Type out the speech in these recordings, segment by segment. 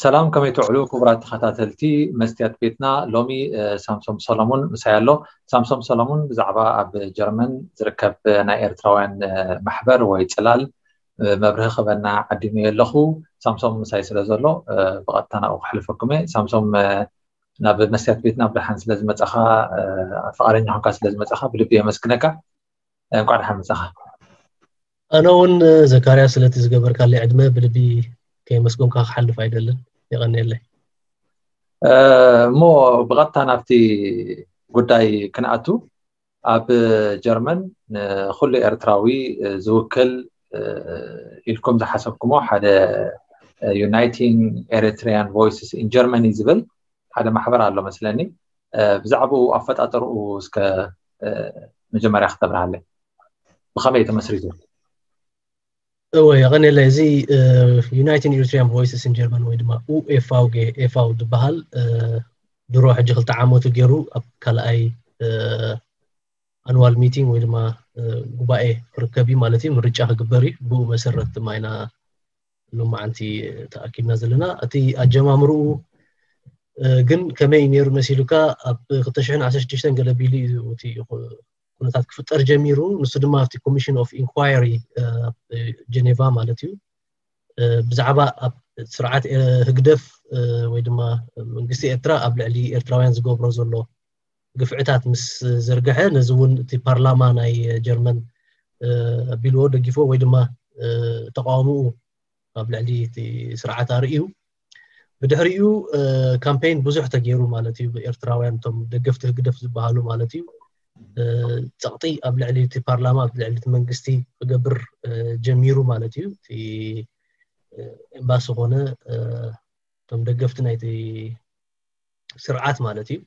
ሰላም፣ ከመይ ትውዕሉ ክቡራት ተኸታተልቲ መስትያት ቤትና? ሎሚ ሳምሶም ሰሎሙን ምሳይ ኣሎ። ሳምሶም ሰሎሙን ብዛዕባ ኣብ ጀርመን ዝርከብ ናይ ኤርትራውያን ማሕበር ወይ ጽላል መብርሂ ክበና ዓዲመዮ ኣለኹ። ሳምሶም ምሳይ ስለ ዘሎ ብቐጥታ ናብኡ ክሕልፈኩም እየ። ሳምሶም፣ ናብ መስትያት ቤትና ብደሓን ስለ ዝመጻኻ፣ ፍቓደኛ ኾንካ ስለ ዝመጻኻ ብልቢ የመስግነካ። እንኳዕ ደሓን መጻኻ። ኣነ እውን ዘካርያ ስለቲ ዝገበርካለይ ዕድመ ብልቢ ከየመስገንካ ክሓልፍ ኣይደልን። የቐንየለይ። እሞ ብቐጥታ ናብቲ ጉዳይ ክንኣቱ፣ ኣብ ጀርመን ንኹሉ ኤርትራዊ ዝውክል ኢልኩም ዝሓሰብኩሞ ሓደ Uniting Eritrean Voices in Germany ዝብል ሓደ ማሕበር ኣሎ መስለኒ። ብዛዕባኡ ኣፈጣጠርኡ እስከ መጀመርያ ክተብርሃለይ፣ ብኸመይ ተመስሪቱ? እወ፣ የቐንየለይ። እዚ Uniting Eritrean Voices in Germany ወይ ድማ ኡኤፍቪ ዝበሃል ድሮ ሕጂ ክልተ ዓመቱ ገይሩ ኣብ ካልኣይ ኣኑዋል ሚቲንግ ወይ ድማ ጉባኤ ክርከብ እዩ ማለት እዩ። ምርጫ ክግበር እዩ። ብኡ መሰረት ድማ ኢና ሎማዓንቲ ተኣኪብና ዘለና። እቲ ኣጀማምርኡ ግን ከመይ ነይሩ መሲሉካ? ኣብ ክልተ ሽሕን ዓሰርተ ሽዱሽተን ገለ ቢሉ እዩ እቲ ኩነታት ክፍጠር ጀሚሩ። ንሱ ድማ ኣብቲ ኮሚሽን ኦፍ ኢንኳየሪ ጀኔቫ ማለት እዩ፣ ብዛዕባ ኣብ ስርዓት ህግደፍ ወይ ድማ መንግስቲ ኤርትራ ኣብ ልዕሊ ኤርትራውያን ዝገብሮ ዘሎ ግፍዕታት ምስ ዘርግሐ፣ ነዚ እውን እቲ ፓርላማ ናይ ጀርመን ኣቢልዎ፣ ደጊፎ ወይ ድማ ተቃውምኡ ኣብ ልዕሊ እቲ ስርዓት ኣርእዩ። ብድሕሪኡ ካምፔን ብዙሕ ተገይሩ ማለት እዩ። ኤርትራውያን እቶም ደገፍቲ ህግደፍ ዝበሃሉ ማለት እዩ፣ ጸቕጢ ኣብ ልዕሊ እቲ ፓርላማ፣ ኣብ ልዕሊ እቲ መንግስቲ ክገብር ጀሚሩ ማለት እዩ። እቲ ኤምባሲ ኮነ እቶም ደገፍቲ ናይቲ ስርዓት ማለት እዩ።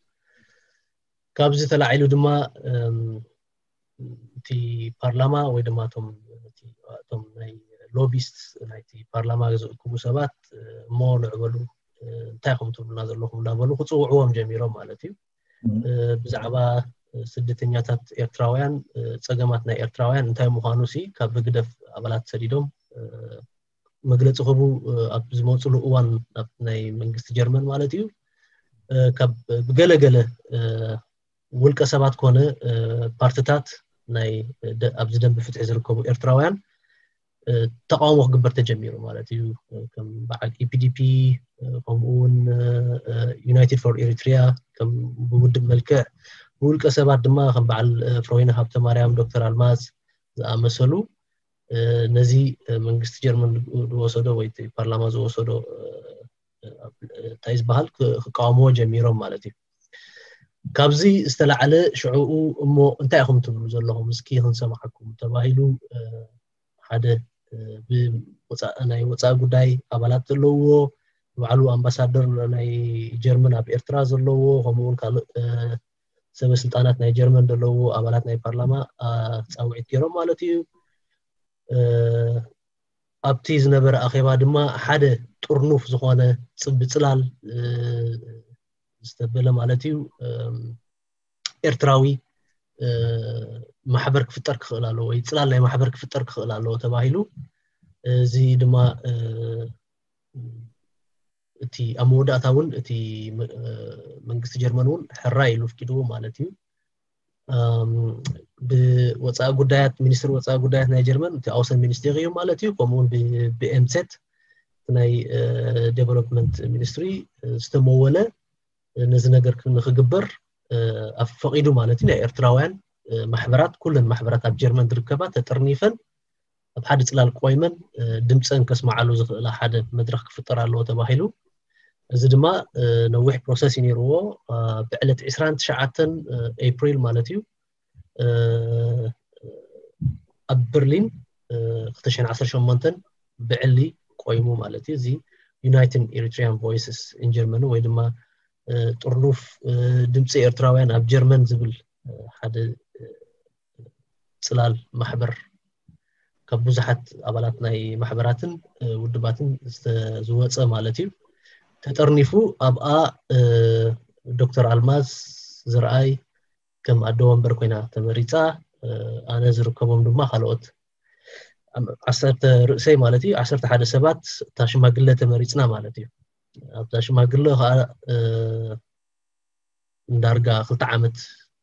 ካብዚ ተላዒሉ ድማ እቲ ፓርላማ ወይ ድማ እቶም ናይ ሎቢስት ናይቲ ፓርላማ ዝእክቡ ሰባት፣ እሞ ንዕበሉ፣ እንታይ ኢኹም ትብሉና ዘለኹም እናበሉ ክፅውዕዎም ጀሚሮም ማለት እዩ። ብዛዕባ ስደተኛታት ኤርትራውያን፣ ፀገማት ናይ ኤርትራውያን እንታይ ምዃኑ ሲ ካብ ህግደፍ ኣባላት ሰዲዶም መግለፂ ክህቡ ኣብ ዝመፅሉ እዋን፣ ኣብ ናይ መንግስቲ ጀርመን ማለት እዩ፣ ካብ ብገለገለ ውልቀ ሰባት ኮነ ፓርትታት ናይ ኣብዚ ደንቢ ፍትሒ ዝርከቡ ኤርትራውያን ተቃውሞ ክግበር ተጀሚሩ ማለት እዩ። ከም በዓል ኢፒዲፒ፣ ከምኡ እውን ዩናይትድ ፎር ኤሪትሪያ፣ ከም ብውድብ መልክዕ ብውልቀ ሰባት ድማ ከም በዓል ፍሮይነ ሃብተ ማርያም፣ ዶክተር ኣልማዝ ዝኣመሰሉ ነዚ መንግስቲ ጀርመን ዝወሰዶ ወይ ፓርላማ ዝወሰዶ እንታይ ዝበሃል ክቃወምዎ ጀሚሮም ማለት እዩ። ካብዚ ዝተላዕለ ሽዕኡ እሞ እንታይ ኢኹም ትብሉ ዘለኹም እስኪ ክንሰማዓኩም ተባሂሉ ሓደ ናይ ወፃኢ ጉዳይ ኣባላት ዘለውዎ፣ ባዕሉ ኣምባሳደር ናይ ጀርመን ኣብ ኤርትራ ዘለዎ፣ ከምኡውን ካልእ ሰበ ስልጣናት ናይ ጀርመን ዘለዎ ኣባላት ናይ ፓርላማ ፃውዒት ገይሮም ማለት እዩ። ኣብቲ ዝነበረ ኣኼባ ድማ ሓደ ጥርኑፍ ዝኾነ ብፅላል ዝተበለ ማለት እዩ ኤርትራዊ ማሕበር ክፍጠር ክኽእል ኣለዎ ወይ ፅላል ናይ ማሕበር ክፍጠር ክኽእል ኣለዎ ተባሂሉ፣ እዚ ድማ እቲ ኣብ መወዳእታ እውን እቲ መንግስቲ ጀርመን እውን ሕራይ ኢሉ ኣፍቂድዎ ማለት እዩ። ብወፃኢ ጉዳያት፣ ሚኒስትሪ ወፃኢ ጉዳያት ናይ ጀርመን እቲ ኣውሰን ሚኒስቴር እዩ ማለት እዩ። ከምኡውን ብኤምሴት ናይ ዴቨሎፕመንት ሚኒስትሪ ዝተመወለ ነዚ ነገር ንክግበር ኣፈቂዱ ማለት እዩ። ናይ ኤርትራውያን ማሕበራት፣ ኩለን ማሕበራት ኣብ ጀርመን ዝርከባ ተጠርኒፈን ኣብ ሓደ ፅላል ቆይመን ድምፀን ከስማዓሉ ዝኽእላ ሓደ መድረክ ክፍጠር ኣለዎ ተባሂሉ። እዚ ድማ ነዊሕ ፕሮሰስ እዩ ነይርዎ። ብዕለት ዕስራን ትሽዓተን ኤፕሪል ማለት እዩ ኣብ በርሊን ክልተ ሽሕን ዓሰርተ ሸሞንተን ብዕሊ ቆይሙ ማለት እዩ። እዚ Uniting Eritrean Voices in Germany ወይ ድማ ጥርኑፍ ድምፂ ኤርትራውያን ኣብ ጀርመን ዝብል ሓደ ፅላል ማሕበር ካብ ብዙሓት ኣባላት ናይ ማሕበራትን ውድባትን ዝወፀ ማለት እዩ። ተጠርኒፉ ኣብኣ ዶክተር ኣልማዝ ዝረኣይ ከም ኣደ ወንበር ኮይና ተመሪፃ፣ ኣነ ዝርከቦም ድማ ካልኦት ዓሰርተ ርእሰይ ማለት እዩ፣ ዓሰርተ ሓደ ሰባት እታ ሽማግለ ተመሪፅና ማለት እዩ። ኣብዛ ሽማግለ ከዓ እንዳርጋ ክልተ ዓመት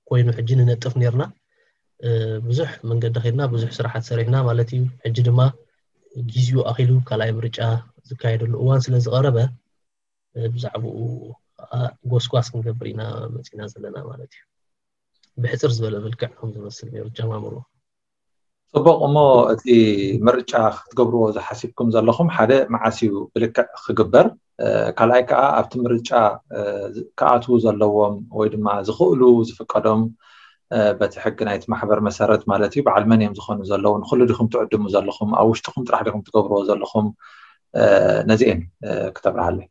ኮይኑ ሕጂ ንነጥፍ ነርና። ብዙሕ መንገዲ ከድና፣ ብዙሕ ስራሓት ሰሪሕና ማለት እዩ። ሕጂ ድማ ጊዜኡ ኣኺሉ ካልኣይ ምርጫ ዝካየደሉ እዋን ስለ ዝቐረበ ብዛዕባኡ ከዓ ጎስጓስ ክንገብር ኢና መፂና ዘለና ማለት እዩ። ብሕፅር ዝበለ መልክዕ ከም ዝመስል ነይሩ ጀማምሮ። ፅቡቕ። እሞ እቲ ምርጫ ክትገብርዎ ዝሓሲብኩም ዘለኹም ሓደ መዓስ እዩ ብልክዕ ክግበር? ካልኣይ ከዓ ኣብቲ ምርጫ ክኣትዉ ዘለዎም ወይ ድማ ዝኽእሉ ዝፍቀዶም በቲ ሕጊ ናይቲ ማሕበር መሰረት ማለት እዩ በዓል መን እዮም ዝኾኑ ዘለዉ? ንኩሉ ዲኹም ትዕድሙ ዘለኹም? ኣብ ውሽጥኹም ጥራሕ ዲኹም ትገብርዎ ዘለኹም? ነዚኤን ክተብርሃለይ።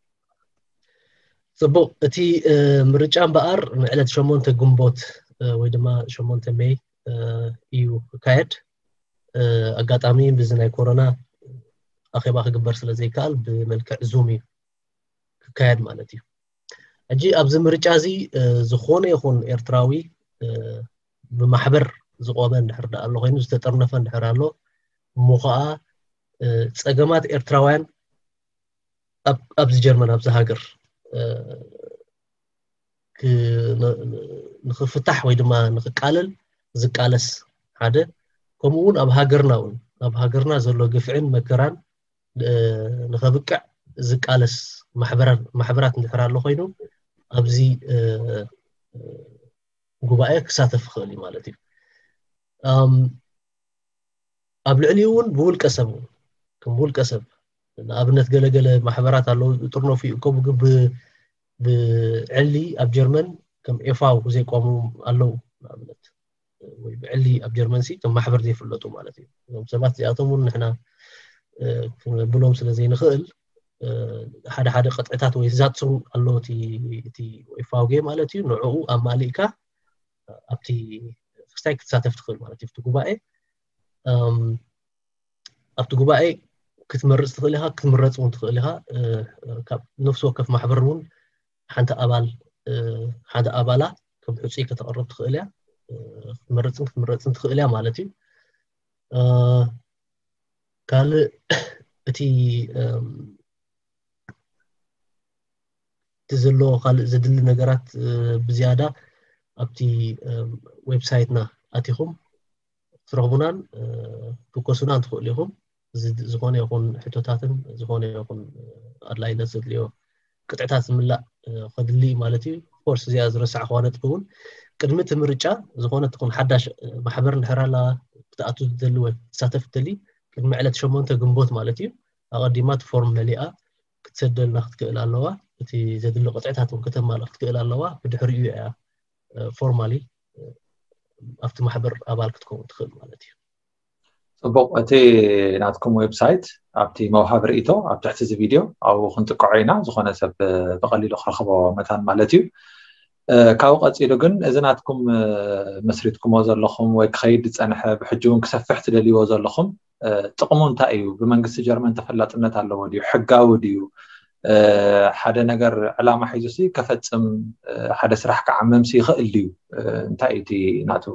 ፅቡቕ። እቲ ምርጫ እምበኣር ንዕለት ሸሞንተ ግንቦት ወይ ድማ ሸሞንተ ሜይ እዩ ክካየድ። ኣጋጣሚ ብዚ ናይ ኮሮና ኣኼባ ክግበር ስለ ዘይከኣል ብመልክዕ ዙም እዩ ክካየድ ማለት እዩ። ሕጂ ኣብዚ ምርጫ እዚ ዝኾነ ይኹን ኤርትራዊ ብማሕበር ዝቆመ እንድሕር ደኣ ኣሎ ኮይኑ፣ ዝተጠርነፈ እንድሕር ኣሎ፣ እሞ ከዓ ፀገማት ኤርትራውያን ኣብዚ ጀርመን ኣብዚ ሃገር ንክፍታሕ ወይ ድማ ንክቃለል ዝቃለስ ሓደ፣ ከምኡ እውን ኣብ ሃገርና እውን ኣብ ሃገርና ዘሎ ግፍዕን መከራን ንኸብቅዕ ዝቃለስ ማሕበራት እንድሕር ኣሎ ኮይኑ ኣብዚ ጉባኤ ክሳተፍ ይኽእል እዩ ማለት እዩ። ኣብ ልዕሊኡ እውን ብውልቀ ሰብ እውን ከም ውልቀ ሰብ ንኣብነት ገለገለ ማሕበራት ኣለዉ ዝጥርነፉ ይእከቡ፣ ግን ብዕሊ ኣብ ጀርመን ከም ኤፋው ዘይቆሙ ኣለዉ። ንኣብነት ወይ ብዕሊ ኣብ ጀርመን ሲ ከም ማሕበር ዘይፍለጡ ማለት እዩ። እዞም ሰባት እዚኣቶም እውን ንሕና ክነብሎም ስለ ዘይንኽእል ሓደ ሓደ ቅጥዕታት ወይ ዛትሱ ኣሎ እቲ ኤፋውጌ ማለት እዩ። ንዕኡ ኣማሊእካ ኣብቲ ክስታይ ክትሳተፍ ትኽእል ማለት እዩ። እቲ ጉባኤ ኣብቲ ጉባኤ ክትመርፅ ትኽእል ኢኻ፣ ክትምረፅ እውን ትኽእል ኢኻ። ካብ ነፍሲ ወከፍ ማሕበር እውን ሓንቲ ኣባል ሓደ ኣባላ ከም ሕፁይ ከተቕርብ ትኽእል እያ። ክትመርፅን ክትምረፅን ትኽእል እያ ማለት እዩ። ካልእ እቲ እቲ ዘሎ ካልእ ዘድሊ ነገራት ብዝያዳ ኣብቲ ዌብሳይትና ኣቲኹም ክትረኽቡናን ክትኮሱናን ትኽእሉ ኢኹም። ዝኾነ ይኹን ሕቶታትን ዝኾነ ይኹን ኣድላይነት ዘድልዮ ቅጥዕታት ዝምላእ ከድሊ እዩ ማለት እዩ። ኮርስ እዚኣ ዝረሳዕክዋ ነጥቢ እውን ቅድሚ እቲ ምርጫ ዝኾነ ትኹን ሓዳሽ ማሕበር እንድሕር ኣላ ክትኣቱ ትደሊ ወይ ክትሳተፍ ትደሊ ቅድሚ ዕለት ሸሞንተ ግንቦት ማለት እዩ ኣቐዲማ እቲ ፎርም መሊኣ ክትሰደልና ክትክእል ኣለዋ። እቲ ዘድሊ ቅጥዕታት እውን ከተማልእ ክትክእል ኣለዋ። ብድሕሪኡ እያ ፎርማሊ ኣብቲ ማሕበር ኣባል ክትከውን ትኽእል ማለት እዩ። ፅቡቕ። እቲ ናትኩም ዌብሳይት ኣብቲ መውሃቢ ርእይቶ ኣብ ትሕቲ እዚ ቪድዮ ኣብኡ ክንጥቅዖ ኢና። ዝኾነ ሰብ ብቐሊሉ ክረኽቦ መታን ማለት እዩ። ካብኡ ቀፂሉ ግን እዚ ናትኩም መስሪትኩሞ ዘለኹም ወይ ክኸይድ ዝፀንሐ ብሕጂ እውን ክሰፍሕ ትደልይዎ ዘለኹም ጥቕሙ እንታይ እዩ? ብመንግስቲ ጀርመን ተፈላጥነት ኣለዎ ድዩ? ሕጋዊ ድዩ? ሓደ ነገር ዕላማ ሒዙ ሲ ከፈፅም ሓደ ስራሕ ክዓምም ሲ ይኽእል ድዩ? እንታይ እዩ እቲ ናቱ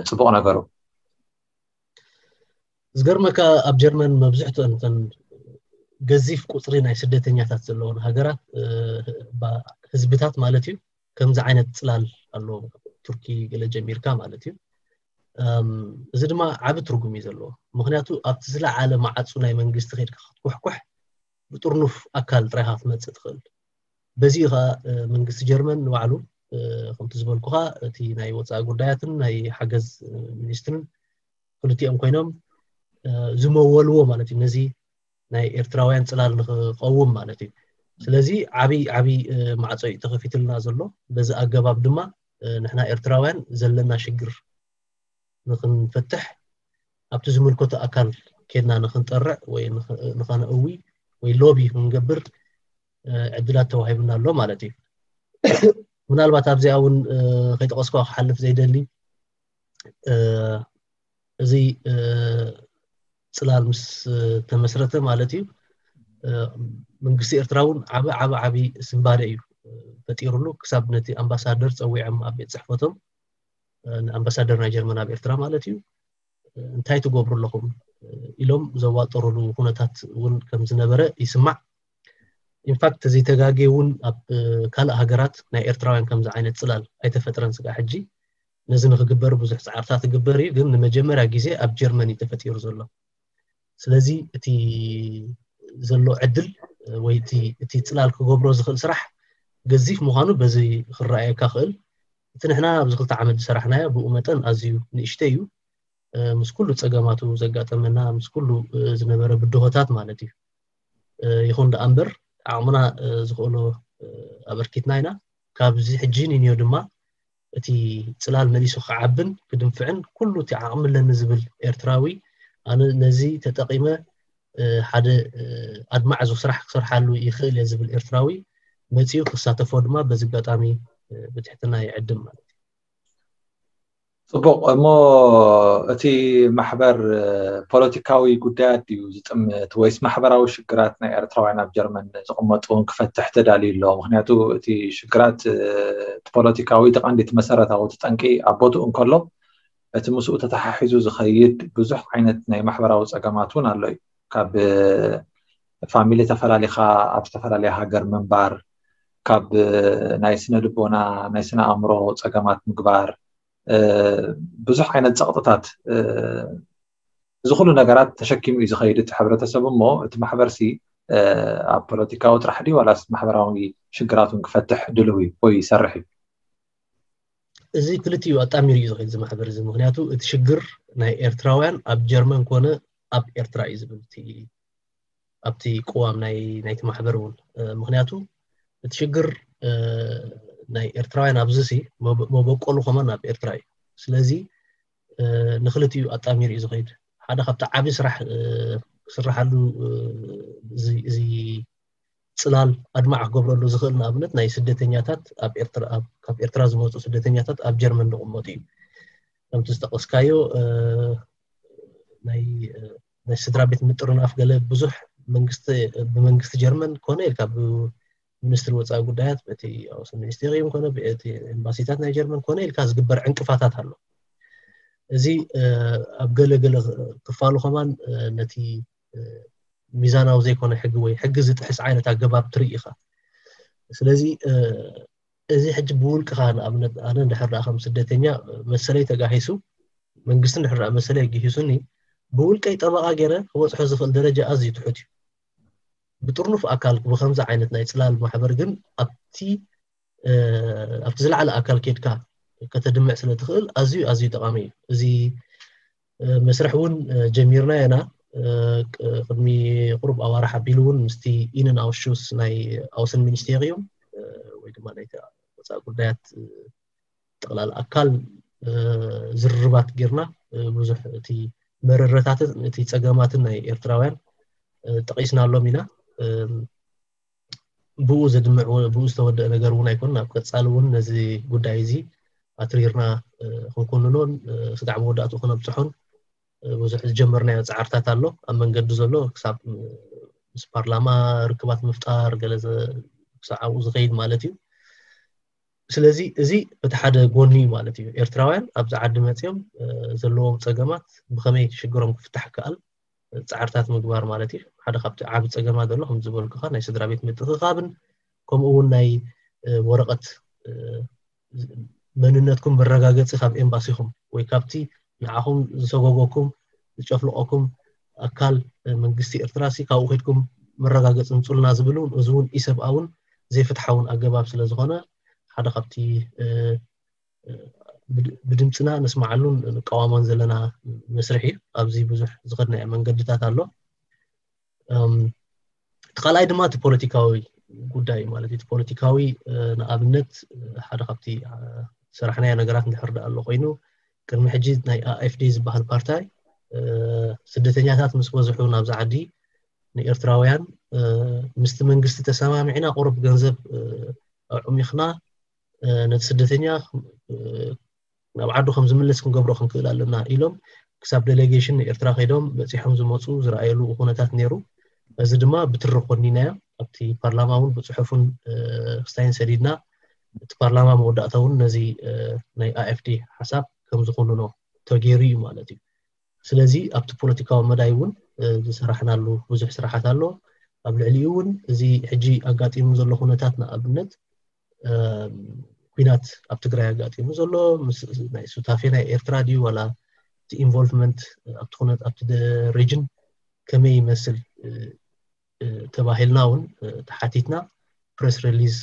ፅቡቕ ነገሩ? ዝገርመካ ኣብ ጀርመን መብዝሕትአን እተን ገዚፍ ቁፅሪ ናይ ስደተኛታት ዘለዎን ሃገራት ህዝብታት ማለት እዩ ከምዚ ዓይነት ፅላል ኣለዎ። ቱርኪ ገለ ጀሚርካ ማለት እዩ። እዚ ድማ ዓቢ ትርጉም እዩ ዘለዎ። ምክንያቱ ኣብቲ ዝለዓለ ማዓፁ ናይ መንግስቲ ከድካ ክትኩሕኩሕ ብጥርኑፍ ኣካል ጥራይካ ክትመፅእ ትኽእል። በዚ ከዓ መንግስቲ ጀርመን ንባዕሉ ከምቲ ዝበልኩካ እቲ ናይ ወፃኢ ጉዳያትን ናይ ሓገዝ ሚኒስትርን ክልቲኦም ኮይኖም ዝመወልዎ ማለት እዩ። ነዚ ናይ ኤርትራውያን ፅላል ንክቀውም ማለት እዩ። ስለዚ ዓብይ ዓብይ ማዕፆ እዩ ተኸፊትልና ዘሎ። በዚ ኣገባብ ድማ ንሕና ኤርትራውያን ዘለና ሽግር ንክንፈትሕ ኣብቲ ዝምልከቶ ኣካል ኬድና ንክንጠርዕ ወይ ንኸነእዊ ወይ ሎቢ ክንገብር ዕድላት ተዋሂቡና ኣሎ ማለት እዩ። ምናልባት ኣብዚኣ እውን ከይጠቀስኳ ክሓልፍ ዘይደሊ እዚ ፅላል ምስ ተመስረተ ማለት እዩ መንግስቲ ኤርትራ እውን ዓቢ ዓቢ ዓቢ ስንባደ እዩ ፈጢሩሉ። ክሳብ ነቲ ኣምባሳደር ፀዊዖም ኣብ ቤት ፅሕፈቶም ንኣምባሳደር ናይ ጀርመን ኣብ ኤርትራ ማለት እዩ እንታይ ትገብሩ ኣለኹም ኢሎም ዘዋጠሩሉ ኩነታት እውን ከም ዝነበረ ይስማዕ። ኢንፋክት ዘይተጋጌ እውን ኣብ ካልእ ሃገራት ናይ ኤርትራውያን ከምዚ ዓይነት ፅላል ኣይተፈጥረን ስጋዕ ሕጂ። ነዚ ንክግበር ብዙሕ ፃዕርታት ይግበር እዩ፣ ግን ንመጀመርያ ግዜ ኣብ ጀርመን እዩ ተፈጢሩ ዘሎ። ስለዚ እቲ ዘሎ ዕድል ወይ እቲ ፅላል ክገብሮ ዝኽእል ስራሕ ገዚፍ ምዃኑ በዚ ክረኣየካ ክእል። እቲ ንሕና ኣብዚ ክልተ ዓመት ዝሰራሕናዮ ብኡ መጠን ኣዝዩ ንእሽተይ እዩ፣ ምስ ኩሉ ፀገማቱ ዘጋጠመና፣ ምስ ኩሉ ዝነበረ ብድሆታት ማለት እዩ። ይኹን ደኣ እምበር ዓቕምና ዝኽእሎ ኣበርኪትና ኢና። ካብዚ ሕጂ ንንዮ ድማ እቲ ፅላል መሊሱ ክዓብን ክድንፍዕን ኩሉ እቲ ዓቕሚ ኣለኒ ዝብል ኤርትራዊ፣ ኣነ ነዚ ተጠቒመ ሓደ ኣድማዕ ስራሕ ክሰርሓሉ ይኽእል እየ ዝብል ኤርትራዊ መፂኡ ክሳተፎ ድማ በዚ ኣጋጣሚ ብትሕትና ይዕድም ማለት እዩ። ፅቡቕ። እሞ እቲ ማሕበር ፖለቲካዊ ጉዳያት ድዩ ዝጥምት ወይስ ማሕበራዊ ሽግራት ናይ ኤርትራውያን ኣብ ጀርመን ዝቕመጡ እውን ክፈትሕ ተዳልዩ ኣሎ? ምክንያቱ እቲ ሽግራት እቲ ፖለቲካዊ እቲ ቀንዲ እቲ መሰረታዊ እቲ ጠንቂ ኣብ ቦትኡ እንከሎ፣ እቲ ምስኡ ተተሓሒዙ ዝኸይድ ብዙሕ ዓይነት ናይ ማሕበራዊ ፀገማት እውን ኣሎ እዩ። ካብ ፋሚሊ ተፈላሊኻ ኣብ ዝተፈላለየ ሃገር ምንባር፣ ካብ ናይ ስነ ልቦና ናይ ስነ ኣእምሮ ፀገማት ምግባር፣ ብዙሕ ዓይነት ፀቕጥታት፣ እዚ ኩሉ ነገራት ተሸኪሙ እዩ ዝኸይድ እቲ ሕብረተሰብ። እሞ እቲ ማሕበርሲ ኣብ ፖለቲካዊ ጥራሕ ድዩ ዋላስ ማሕበራዊ ሽግራቱን ክፈትሕ ድልው እዩ ወይ ይሰርሕ እዩ? እዚ ክልቲኡ ኣጣሚሩ እዩ ዝኸይድ እዚ ማሕበር እዚ። ምክንያቱ እቲ ሽግር ናይ ኤርትራውያን ኣብ ጀርመን ኮነ ኣብ ኤርትራ እዩ ዝብል ኣብቲ ቅዋም ናይቲ ማሕበር እውን። ምክንያቱ እቲ ሽግር ናይ ኤርትራውያን ኣብዚ ሲ መበቆሉ ከማን ኣብ ኤርትራ እዩ። ስለዚ ንክልቲኡ ኣጣሚሩ እዩ ዝኸይድ። ሓደ ካብቲ ዓብዪ ስራሕ ክስርሓሉ እዚ ፅላል ኣድማዕ ክገብረሉ ዝኽእል ንኣብነት ናይ ስደተኛታት ኣብ ኤርትራ ካብ ኤርትራ ዝመፁ ስደተኛታት ኣብ ጀርመን ዝቕመጡ እዩ። ከምቲ ዝጠቐስካዮ ናይ ናይ ስድራ ቤት ምጥርናፍ ገለ ብዙሕ መንግስቲ ብመንግስቲ ጀርመን ኮነ ኢልካ ብሚኒስትሪ ወፃኢ ጉዳያት በቲ ኣውሰን ሚኒስቴሪየም ኮነ ብቲ ኤምባሲታት ናይ ጀርመን ኮነ ኢልካ ዝግበር ዕንቅፋታት ኣሎ። እዚ ኣብ ገለ ገለ ክፋሉ ከማን ነቲ ሚዛናዊ ዘይኮነ ሕጊ ወይ ሕጊ ዝጥሕስ ዓይነት ኣገባብ ትርኢ ኢኻ። ስለዚ እዚ ሕጂ ብውልቅኻ ንኣብነት ኣነ እንድሕር ደኣ ከም ስደተኛ መሰለይ ተጋሂሱ መንግስቲ እንድሕር ደኣ መሰለይ ኣጊሂሱኒ ብውልቀይ ጠበቓ ገይረ ክበፅሖ ዝኽእል ደረጃ ኣዝዩ ትሑት እዩ። ብጥርኑፍ ኣካል ብከምዚ ዓይነት ናይ ፅላል ማሕበር ግን ኣብቲ ኣብቲ ዝለዓለ ኣካል ኬድካ ከተድምዕ ስለ ትኽእል ኣዝዩ ኣዝዩ ጠቓሚ እዩ። እዚ መስርሕ እውን ጀሚርና ኢና። ቅድሚ ቁሩብ ኣዋርሕ ኣቢሉ እውን ምስቲ ኢንን ኣውሹስ ናይ ኣውሰን ሚኒስቴር እዮም ወይ ድማ ናይ ወፃኢ ጉዳያት ጠቕላላ ኣካል ዝርርባት ጌርና ብዙሕ እቲ መረረታትን እቲ ፀገማትን ናይ ኤርትራውያን ጠቒስናሎም ኢና። ብኡ ዘድምዕ ብኡ ዝተወደአ ነገር እውን ኣይኮን። ኣብ ቀፃሊ እውን ነዚ ጉዳይ እዚ ኣትሪርና ክንኮንኖን ስጋዕ መወዳእትኡ ክነብፅሖን ብዙሕ ዝጀመርናዮ ፃዕርታት ኣሎ ኣብ መንገዲ ዘሎ ክሳብ ምስ ፓርላማ ርክባት ምፍጣር ገለ ክሳብ ኣብኡ ዝኸይድ ማለት እዩ። ስለዚ እዚ በቲ ሓደ ጎኒ እዩ ማለት እዩ። ኤርትራውያን ኣብዚ ዓዲ መፅዮም ዘለዎም ፀገማት ብኸመይ ሽግሮም ክፍታሕ ይከኣል ፃዕርታት ምግባር ማለት እዩ። ሓደ ካብቲ ዓቢ ፀገማ ዘሎ ከም ዝበልኩኻ ናይ ስድራ ቤት ምትእኽኻብን ከምኡ እውን ናይ ወረቐት መንነትኩም መረጋገፂ ካብ ኤምባሲኹም ወይ ካብቲ ንዓኹም ዝሰጎጎኩም ዝጨፍልቆኩም ኣካል መንግስቲ ኤርትራ ሲ ካብኡ ከድኩም መረጋገፂ ምፁልና ዝብል እውን እዚ እውን ኢሰብኣውን ዘይፍትሓውን ኣገባብ ስለ ዝኾነ ሓደ ካብቲ ብድምፅና ነስማዓሉን ንቃዋሞን ዘለና መስርሕ እዩ። ኣብዚ ብዙሕ ዝኸድናዮ መንገድታት ኣሎ። እቲ ካልኣይ ድማ እቲ ፖለቲካዊ ጉዳይ ማለት እዩ። እቲ ፖለቲካዊ ንኣብነት ሓደ ካብቲ ሰራሕናዮ ነገራት እንድሕር ደኣ ኣሎ ኮይኑ ቅድሚ ሕጂ ናይ ኣኤፍዲ ዝበሃል ፓርታይ ስደተኛታት ምስ በዝሑ ናብዚ ዓዲ ንኤርትራውያን ምስቲ መንግስቲ ተሰማሚዕና ቁሩብ ገንዘብ ኣዕሚኽና ነቲ ስደተኛ ናብ ዓዱ ከም ዝምለስ ክንገብሮ ክንክእል ኣለና ኢሎም ክሳብ ዴሌጌሽን ንኤርትራ ከይዶም በፂሖም ዝመፁ ዝረኣየሉ ኩነታት ነይሩ። እዚ ድማ ብትሪ ኮኒናዮ ኣብቲ ፓርላማ እውን ብፅሑፍን ክስታይን ሰዲድና እቲ ፓርላማ መወዳእታ እውን ነዚ ናይ ኣኤፍዲ ሓሳብ ከም ዝኮንኖ ተገይሩ እዩ ማለት እዩ። ስለዚ ኣብቲ ፖለቲካዊ መዳይ እውን ዝሰራሕናሉ ብዙሕ ስራሓት ኣሎ። ኣብ ልዕሊኡ እውን እዚ ሕጂ ኣጋጢሙ ዘሎ ኩነታት ንኣብነት ኲናት ኣብ ትግራይ ኣጋጢሙ ዘሎ ናይ ሱታፌ ናይ ኤርትራ ድዩ ዋላ እቲ ኢንቮልቭመንት ኣብቲ ኩነት ኣብቲ ሬጅን ከመይ ይመስል ተባሂልና እውን ተሓቲትና ፕረስ ሪሊዝ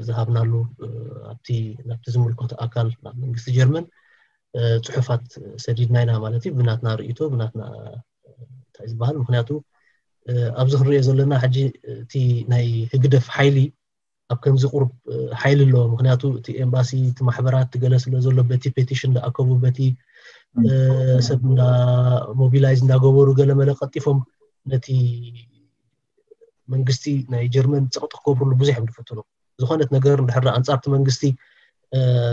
ዝሃብናሉ ኣብቲ ናብቲ ዝምልከቶ ኣካል ናብ መንግስቲ ጀርመን ፅሑፋት ሰዲድና ኢና ማለት እዩ። ብናትና ርእይቶ ብናትና እንታይ ዝበሃል ምክንያቱ ኣብዚ ክንሪኦ ዘለና ሕጂ እቲ ናይ ህግደፍ ሓይሊ ኣብ ከምዚ ቁሩብ ሓይሊ ኣለዎ። ምክንያቱ እቲ ኤምባሲ እቲ ማሕበራት ገለ ስለ ዘሎ በቲ ፔቲሽን ዝኣከቡ በቲ ሰብ እንዳ ሞቢላይዝ እንዳገበሩ ገለ መለ ቀልጢፎም ነቲ መንግስቲ ናይ ጀርመን ፀቕጢ ክገብርሉ ብዙሕ እዮም ዝፍትኑ። ዝኾነት ነገር እንድሕር ኣንፃርቲ መንግስቲ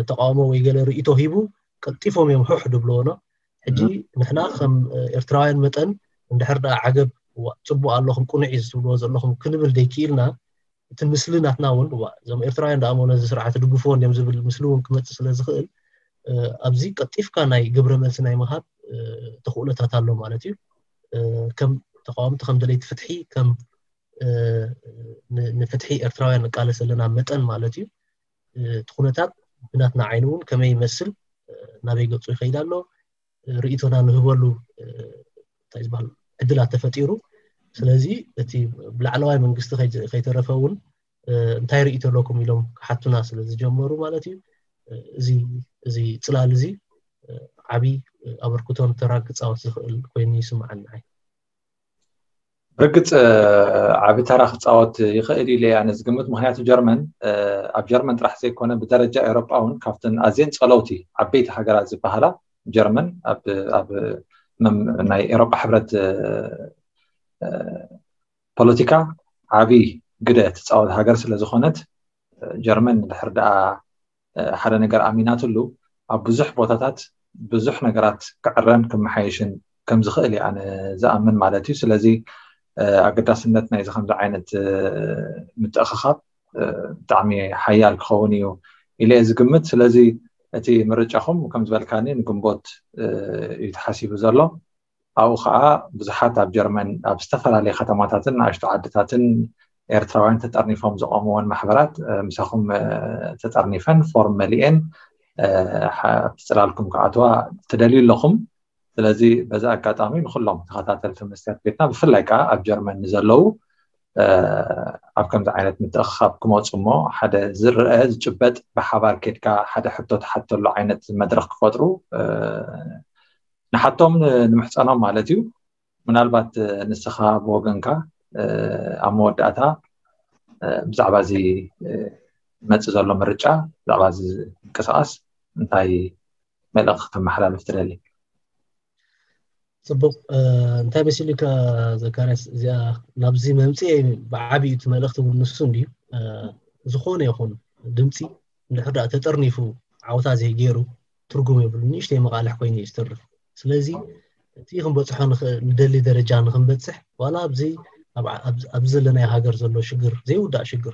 ተቃውሞ ወይ ገለ ርእቶ ሂቡ ቀልጢፎም እዮም ሕሕ ድብልዎ ነው። ሕጂ ንሕና ከም ኤርትራውያን መጠን እንድሕር ደኣ ዓገብ ጽቡቅ ኣለኹም ቅኑዕ እዩ ዝትብልዎ ዘለኹም ክንብል ደይክኢልና እቲ ምስሊ ናትና እውን እዋ እዞም ኤርትራውያን ደኣ ነዚ ስርዓት ድግፍዎ እንዲም ዝብል ምስሊ እውን ክመፅእ ስለ ዝኽእል ኣብዚ ቀልጢፍካ ናይ ግብረ መልሲ ናይ ምሃብ ተኽእሎታት ኣሎ ማለት እዩ። ከም ተቃወምቲ ከም ደለይቲ ፍትሒ ከም ንፍትሒ ኤርትራውያን ንቃለስ ዘለና መጠን ማለት እዩ። እቲ ኩነታት ብናትና ዓይኒ እውን ከመይ ይመስል ናበይ ገፁ ይኸይድ ኣሎ ርእቶና ንህበሉ እንታይ ዝበሃል ዕድላት ተፈጢሩ። ስለዚ እቲ ብላዕለዋይ መንግስቲ ከይተረፈ እውን እንታይ ርእቶ ኣለኩም ኢሎም ክሓቱና ስለ ዝጀመሩ ማለት እዩ። እዚ እዚ ፅላል እዚ ዓብይ ኣበርክቶን ተራ ክፃወት ዝኽእል ኮይኑ ይስምዓኒ። ብርግፅ ዓቢ ተራ ክፃወት ይኽእል ኢለ ኣነ ዝግምት። ምክንያቱ ጀርመን ኣብ ጀርመን ጥራሕ ዘይኮነ ብደረጃ ኤሮጳ እውን ካብተን ኣዝየን ፀለውቲ ዓበይቲ ሃገራት ዝበሃላ ጀርመን ኣብ ናይ ኤሮጳ ሕብረት ፖለቲካ ዓቢ ግደ ትፃወት ሃገር ስለዝኮነት ጀርመን ድሕር ደኣ ሓደ ነገር ኣሚናትሉ ኣብ ብዙሕ ቦታታት ብዙሕ ነገራት ክዕረን ክመሓየሽን ከም ዝኽእል እየ ኣነ ዝኣምን ማለት እዩ። ስለዚ ኣገዳስነት ናይዚ ከምዚ ዓይነት ምትእኽኻብ ብጣዕሚ ሓያል ክኸውን እዩ ኢለ እየ ዝግምት። ስለዚ እቲ ምርጫኹም ከም ዝበልካኒ ንግንቦት እዩ ተሓሲቡ ዘሎ። ኣብኡ ከዓ ብዙሓት ኣብ ጀርመን ኣብ ዝተፈላለዩ ከተማታትን ንኣሽቱ ዓድታትን ኤርትራውያን ተጠርኒፎም ዝቆምወን ማሕበራት ምሳኹም ተጠርኒፈን ፎርም መሊኤን ኣብቲ ፅላልኩም ክኣትዋ ትደልዩ ኣለኹም። ስለዚ በዚ ኣጋጣሚ ንኩሎም ተኸታተልቲ መስትያት ቤትና ብፍላይ ከዓ ኣብ ጀርመን ንዘለዉ ኣብ ከምዚ ዓይነት ምትእኽኻብ ክመፁ እሞ ሓደ ዝረአ ዝጭበጥ ብሓባር ኬድካ ሓደ ሕቶ ትሓተሉ ዓይነት መድረክ ክፈጥሩ ንሓቶም ንምሕፀኖም ማለት እዩ። ምናልባት ንስኻ ብወገንካ ኣብ መወዳእታ ብዛዕባ እዚ መፅእ ዘሎ ምርጫ ብዛዕባ እዚ ምንቅስቃስ እንታይ መልእኽቲ ክተመሓላልፍ ትደሊ? ፅቡቅ እንታይ መሲሉካ ዘካርያስ እዚኣ ናብዚ መምፅኤ ብዓብዩ እቲ መልእኽቲ እውን ንሱ እንድዩ። ዝኾነ ይኹን ድምፂ እንድሕር ደኣ ተጠርኒፉ ዓወታ ዘይገይሩ ትርጉም የብሉ ንእሽተይ መቃልሕ ኮይኑ እዩ ዝተርፍ። ስለዚ እቲ ክንበፅሖ ንደሊ ደረጃ ንክንበፅሕ ዋላ ኣብዚ ኣብዚ ዘለናዮ ሃገር ዘሎ ሽግር ዘይውዳእ ሽግር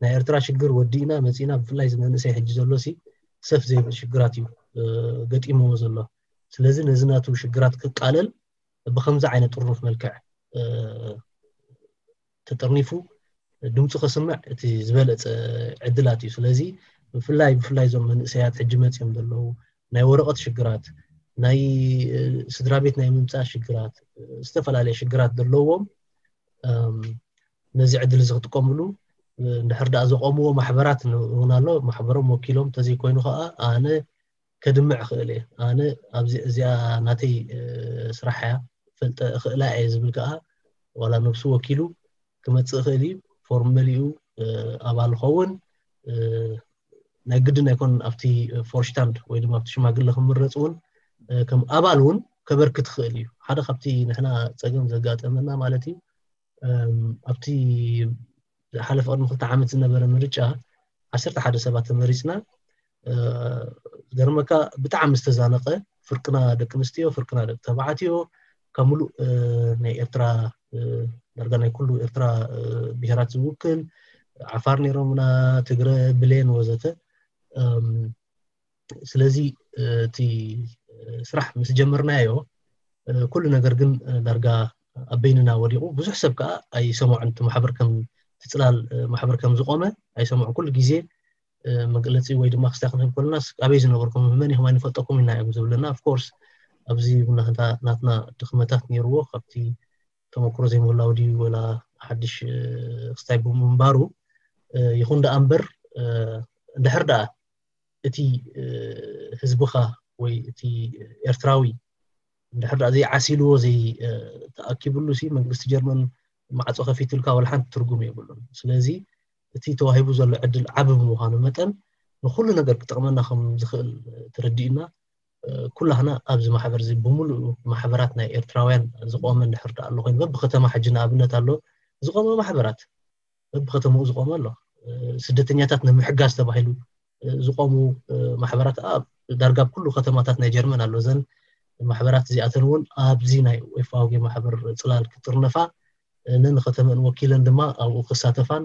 ናይ ኤርትራ ሽግር ወዲእና መፂእና ብፍላይ ዝመንእሰይ ሕጂ ዘሎ ሲ ሰፍ ዘይብል ሽግራት እዩ ገጢምዎ ዘሎ። ስለዚ ነዚ ናቱ ሽግራት ክቃለል ብከምዚ ዓይነት ጥርኑፍ መልክዕ ተጠርኒፉ ድምፁ ከስምዕ እቲ ዝበለፀ ዕድላት እዩ። ስለዚ ብፍላይ ብፍላይ እዞም መንእሰያት ሕጂ መፅኦም ዘለዉ ናይ ወረቐት ሽግራት ናይ ስድራ ቤት ናይ ምምፃእ ሽግራት ዝተፈላለየ ሽግራት ዘለዎም ነዚ ዕድል እዚ ክጥቀምሉ እንድሕር ደኣ ዘቆምዎ ማሕበራት እውን ኣሎ። ማሕበሮም ወኪሎም እንተዘይኮይኑ ከዓ ኣነ ከድምዕ ክእል እየ። ኣነ ኣብዚ እዚኣ ናተይ ስራሕ እያ ፈልጠ እኽእላ እየ ዝብል ከዓ ዋላ ነብሱ ወኪሉ ክመፅእ እኽእል እዩ። ፎርም መሊኡ ኣባል ኸውን ናይ ግድን ኣይኮን ኣብቲ ፎርሽታንድ ወይ ድማ ኣብቲ ሽማግለ ክምረፅ እውን ከም ኣባል እውን ከበርክት ክእል እዩ። ሓደ ካብቲ ንሕና ፀገም ዘጋጠመና ማለት እዩ ኣብቲ ዝሓለፈ ቅድሚ ክልተ ዓመት ዝነበረ ምርጫ ዓሰርተ ሓደ ሰባት ተመሪፅና። ገርመካ ብጣዕሚ ዝተዛነቀ ፍርቅና ደቂ ኣንስትዮ ፍርቅና ደቂ ተባዕትዮ ካብ ሙሉእ ናይ ኤርትራ ዳርጋ ናይ ኩሉ ኤርትራ ብሄራት ዝውክል ዓፋር ነይሮምና፣ ትግረ፣ ብሌን ወዘተ። ስለዚ እቲ ስራሕ ምስ ጀመርናዮ ኩሉ ነገር ግን ዳርጋ ኣብ በይንና ወዲቑ። ብዙሕ ሰብ ከዓ ኣይሰምዖን። እቲ ማሕበር ከም እቲ ፅላል ማሕበር ከም ዝቆመ ኣይሰምዖን። ኩሉ ግዜ መግለፂ ወይ ድማ ክስታይ ክንህብ ከለና ኣበይ ዝነበርኩም መን ኢኹም ኣይንፈልጠኩም ኢና እዮም ዝብለና። Of course ኣብዚ ናትና ድኽመታት ነይርዎ፣ ካብቲ ተመክሮ ዘይምህላው ድዩ ወላ ሓድሽ ክስታይ ብምንባሩ ይኹን ደኣ እምበር፣ እንድሕር ደኣ እቲ ህዝብኻ ወይ እቲ ኤርትራዊ እንድሕር ደኣ ዘይዓሲልዎ ዘይተኣኪብሉ ሲ መንግስቲ ጀርመን ማዕፆ ከፊትልካ ወላ ሓንቲ ትርጉም የብሉን። ስለዚ እቲ ተዋሂቡ ዘሎ ዕድል ዓቢ ብምዃኑ መጠን ንኹሉ ነገር ክጠቕመና ከም ዝኽእል ተረዲእና ኩላህና ኣብዚ ማሕበር እዚ ብምሉእ ማሕበራት ናይ ኤርትራውያን ዝቆመ እንድሕር ደኣ ኣሎ ኮይኑ በብከተማ ሕጂ ንኣብነት ኣሎ ዝቆመ ማሕበራት በብከተማኡ ዝቆመ ኣሎ። ስደተኛታት ንምሕጋዝ ተባሂሉ ዝቆሙ ማሕበራት ኣብ ዳርጋ ኣብ ኩሉ ከተማታት ናይ ጀርመን ኣሎ። እዘን ማሕበራት እዚኣተን እውን ኣብዚ ናይ ኦኤፍአውጌ ማሕበር ፅላል ክጥርነፋ ነንከተመን ወኪለን ድማ ኣብኡ ክሳተፋን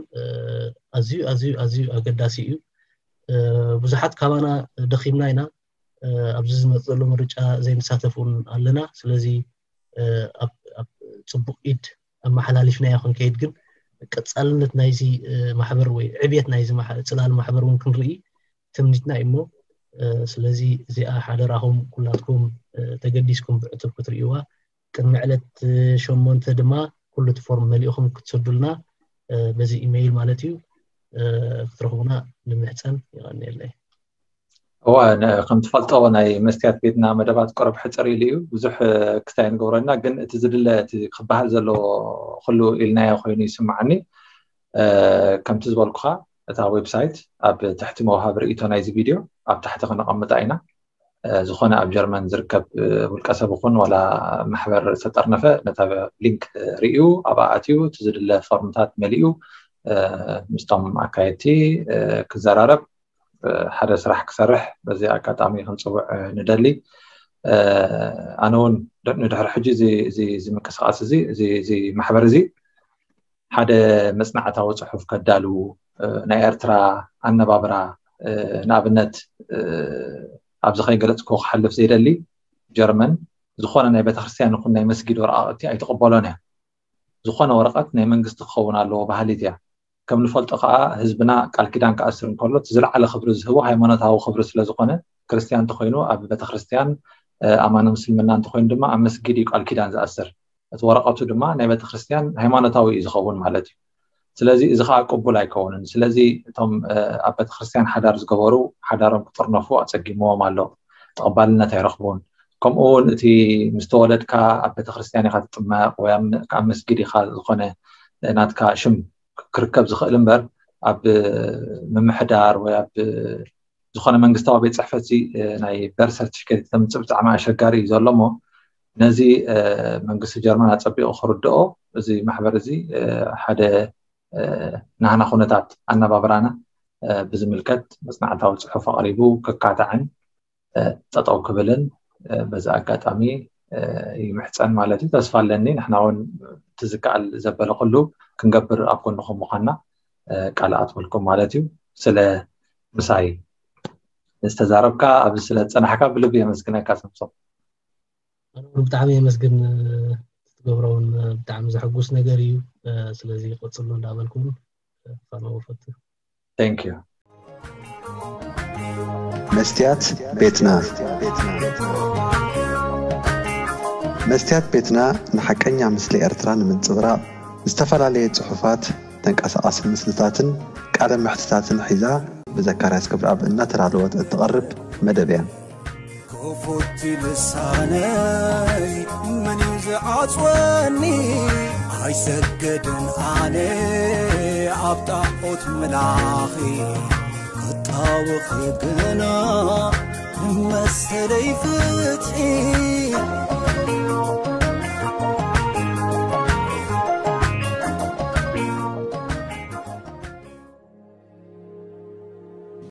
ኣዝዩ ኣዝዩ ኣዝዩ ኣገዳሲ እዩ። ብዙሓት ካባና ደኺምና ኢና። ኣብዚ ዝመፅእ ዘሎ ምርጫ ዘይንሳተፍ እውን ኣለና። ስለዚ ኣብ ፅቡቅ ኢድ ኣመሓላሊፍናዮ ክንከይድ ግን ቀፃልነት ናይዚ ማሕበር ወይ ዕብየት ናይዚ ጽላል ማሕበር እውን ክንርኢ ትምኒትና እዩ እሞ ስለዚ እዚኣ ሓደራኹም ኩላትኩም ተገዲስኩም ብዕቱብ ክትርእይዋ ቅድሚ ዕለት ሸሞንተ ድማ ኩሉ እቲ ፎርም መሊእኹም ክትሰዱልና በዚ ኢሜይል ማለት እዩ ክትረኽቡና ንምሕፀን። ይቐንየለይ። እወ ከም ትፈልጦ ናይ መስትያት ቤትና መደባት ቀረብ ሕፅር ኢሉ እዩ። ብዙሕ ክስታይ ንገብረና ግን እቲ ዝድለ እቲ ክበሃል ዘለዎ ኩሉ ኢልናዮ ኮይኑ ይስምዓኒ። ከምቲ ዝበልኩኻ እታ ዌብሳይት ኣብ ትሕቲ መውሃቢ ርእይቶ ናይዚ ቪድዮ ኣብ ታሕቲ ክነቐምጣ ኢና። ዝኾነ ኣብ ጀርመን ዝርከብ ውልቀ ሰብ ይኹን ዋላ ማሕበር ዝተጠርነፈ ነታ ሊንክ ርእዩ ኣብኣ ኣትዩ እቲ ዝድለ ፎርምታት መሊኡ ምስቶም ኣካየድቲ ክዘራረብ ሓደ ስራሕ ክሰርሕ በዚ ኣጋጣሚ ክንፅውዕ ንደሊ። ኣነ እውን ንድሕሪ ሕጂ እዚ ምንቅስቃስ እዚ እዚ ማሕበር እዚ ሓደ መፅናዕታዊ ፅሑፍ ከዳልው ናይ ኤርትራ ኣነባብራ ንኣብነት ኣብዚ ከይገለፅኩ ክሓልፍ ዘይደሊ ጀርመን ዝኾነ ናይ ቤተክርስትያን ይኹን ናይ መስጊድ ወረቃቅቲ ኣይትቕበሎን እያ። ዝኾነ ወረቀት ናይ መንግስቲ ክኸውን ኣለዎ ባህሊት እያ። ከም ንፈልጦ ከዓ ህዝብና ቃል ኪዳን ክኣስር እንከሎ እቲ ዝለዓለ ክብሪ ዝህቦ ሃይማኖታዊ ክብሪ ስለዝኾነ ክርስትያን እንተኮይኑ ኣብ ቤተክርስትያን ኣማኒ ምስልምና እንተኮይኑ ድማ ኣብ መስጊድ እዩ ቃል ኪዳን ዝኣስር። እቲ ወረቀቱ ድማ ናይ ቤተክርስትያን ሃይማኖታዊ እዩ ዝኸውን ማለት እዩ። ስለዚ እዚ ከዓ ቅቡል ኣይከውንን። ስለዚ እቶም ኣብ ቤተክርስትያን ሓዳር ዝገበሩ ሓዳሮም ክጥርነፉ ኣፀጊምዎም ኣሎ። ተቐባልነት ኣይረኽቡን። ከምኡ እውን እቲ ምስ ተወለድካ ኣብ ቤተክርስትያን ኢካ ትጥመቕ ወይ ኣብ መስጊድ ኢካ ዝኾነ ናትካ ሽም ክርከብ ዝኽእል እምበር ኣብ ምምሕዳር ወይ ኣብ ዝኾነ መንግስታዊ ቤት ፅሕፈት ናይ በር ሰርቲፊኬት ተምፅእ ብጣዕሚ ኣሸጋሪ እዩ ዘሎ እሞ ነዚ መንግስቲ ጀርመን ኣፀቢቑ ክርድኦ እዚ ማሕበር እዚ ሓደ ናህና ኩነታት ኣነባብራና ብዝምልከት መፅናዕታዊ ፅሑፍ ኣቕሪቡ ክካታዕን ጠጠው ክብልን በዚ ኣጋጣሚ ይምሕፀን ማለት እዩ። ተስፋ ኣለኒ ንሕና እውን እቲ ዝከኣል ዘበለ ኩሉ ክንገብር ኣብ ጎንኹም ምዃንና ቃል ኣትወልኩም ማለት እዩ። ስለ ምሳይ ዝተዛረብካ ኣብዚ ስለ ዝፀናሕካ ብልቢ የመስግነካ። ሰምሶም ብጣዕሚ የመስግን። ትገብሮ እውን ብጣዕሚ ዘሐጉስ ነገር እዩ። ስለዚ ቀፅሉ እንዳበልኩ ፋኖ ፈቱ። Thank you። መስትያት ቤትና መስትያት ቤትና ንሓቀኛ ምስሊ ኤርትራ ንምንጽብራቕ ዝተፈላለየ ጽሑፋት፣ ተንቀሳቓሲ ምስልታትን ቃለ መሕትታትን ሒዛ ብዘካርያስ ክብረኣብ እናተዳለወት እትቐርብ መደብ እያ። ክፉት ልሳነይ መን እዩ ዝዓጽወኒ? ኣይሰግድን ኣነ ኣብ ጣዖት ምላኺ ክጣወኺ ግና መሰለይ ፍትሒ